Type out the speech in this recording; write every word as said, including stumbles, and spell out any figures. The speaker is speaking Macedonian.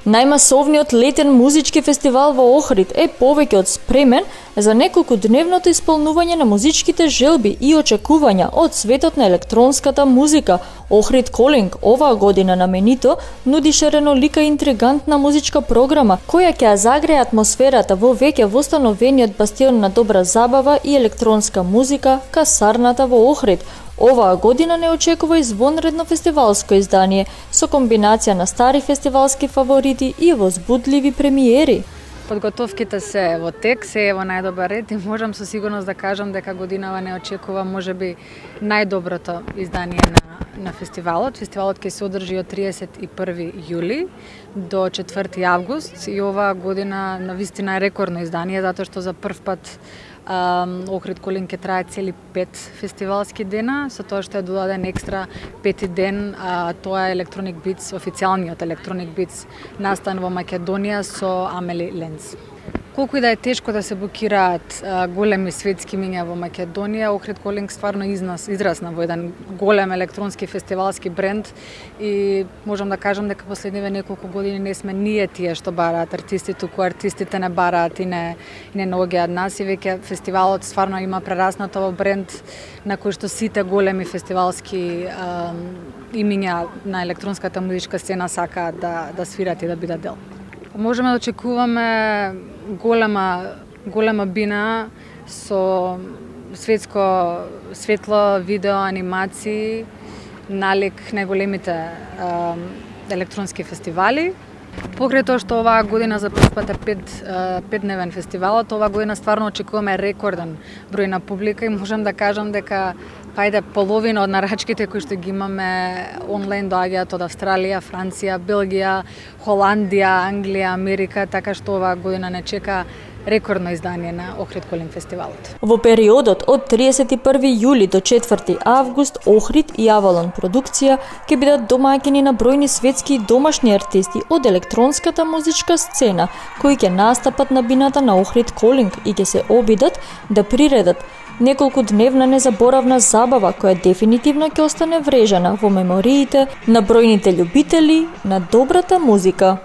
Најмасовниот летен музички фестивал во Охрид е повеќе од спремен за неколкудневното исполнување на музичките желби и очекувања од светот на електронската музика. Охрид Колинг оваа година наменито нуди шаренолика и интригантна музичка програма која ќе ја загрее атмосферата во веќе востановениот бастион на добра забава и електронска музика, касарната во Охрид. Оваа година не очекува извонредно фестивалско издание со комбинација на стари фестивалски фаворити и возбудливи премиери. Подготовките се во тек, се е во најдобар ред и можам со сигурност да кажам дека годинава не очекува можеби најдоброто издание на, на фестивалот. Фестивалот ќе се одржи од триесет и први јули до четврти август и оваа година навистина е рекордно издание затоа што за прв пат Охрид Колинг ќе трае цели пет фестивалски дена, со тоа што е додаден екстра пети ден, а тоа е Electronic Beats, официјалниот Electronic Beats настан во Македонија со Амели Ленц. Колку и да е тешко да се букираат а, големи светски имиња во Македонија, Охрид Колинг стварно изнас, израсна во еден голем електронски фестивалски бренд и можам да кажам дека последниве неколку години не сме ние тие што бараат артисти, туку артистите не бараат и не, и не наоѓаат нас и веќе фестивалот стварно има прераснато во бренд на кој што сите големи фестивалски а, имиња на електронската музичка сцена сакаат да, да свират и да бидат дел. Можеме да очекуваме голема голема бина со светско светло, видео, анимации, налик најголемите е, електронски фестивали. Покрај тоа што оваа година за прв пат е пет, петдневен фестивалот, оваа година стварно очекуваме рекорден број на публика и можам да кажам дека пајде половина од нарачките кои што ги имаме онлайн доаѓаат од Австралија, Франција, Белгија, Холандија, Англија, Америка, така што оваа година не чека рекордно издание на Охрид Колинг фестивалот. Во периодот од триесет и први јули до четврти август Охрид и Авалон продукција ќе бидат домаќини на бројни светски и домашни артисти од електронската музичка сцена кои ќе настапат на бината на Охрид Колинг и ќе се обидат да приредат неколку дневна незаборавна забава која дефинитивно ќе остане врежана во мемориите на бројните љубители на добрата музика.